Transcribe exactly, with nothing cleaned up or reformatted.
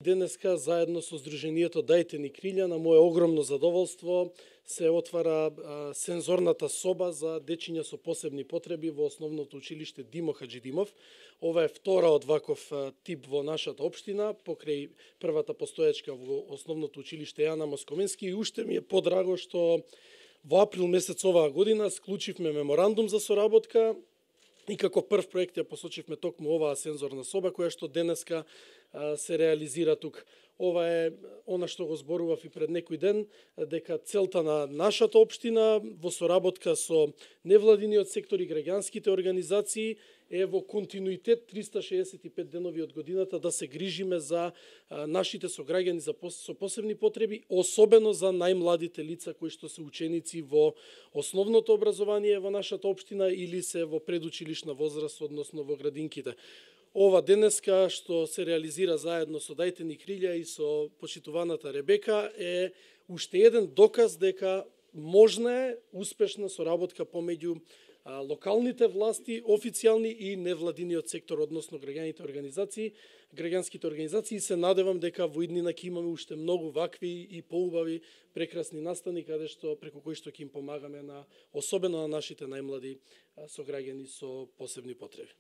Денеска, заедно со Сдруженијето Дајте ни крилја, на моје огромно задоволство се отвара а, сензорната соба за дечиња со посебни потреби во Основното училиште Димо Хаџидимов. Ова е втора од ваков а, тип во нашата општина, покрај првата постоечка во Основното училиште Јана Москоменски, и уште ми е подраго што во април месец оваа година склучивме меморандум за соработка и како прв проект ја посочивме токму оваа сензорна соба, која што денеска а, се реализира тука. Ова е она што го зборував и пред некој ден, дека целта на нашата општина во соработка со невладиниот сектор и граѓанските организации е во континуитет триста шеесет и пет денови од годината да се грижиме за а, нашите сограѓани за пос, со посебни потреби, особено за најмладите лица кои што се ученици во основното образование во нашата општина или се во предучилишна возраст, односно во градинките. Ова денеска што се реализира заедно со Дајте ни крилја и со почитуваната Ребека е уште еден доказ дека можна е успешна соработка помеѓу а, локалните власти, официјални и невладиниот сектор, односно граѓаните организации, граѓанските организации, и се надевам дека во иднина ќе имаме уште многу вакви и поубави прекрасни настани каде што преку кои што ќе им помагаме на особено на нашите најмлади сограѓани со посебни потреби.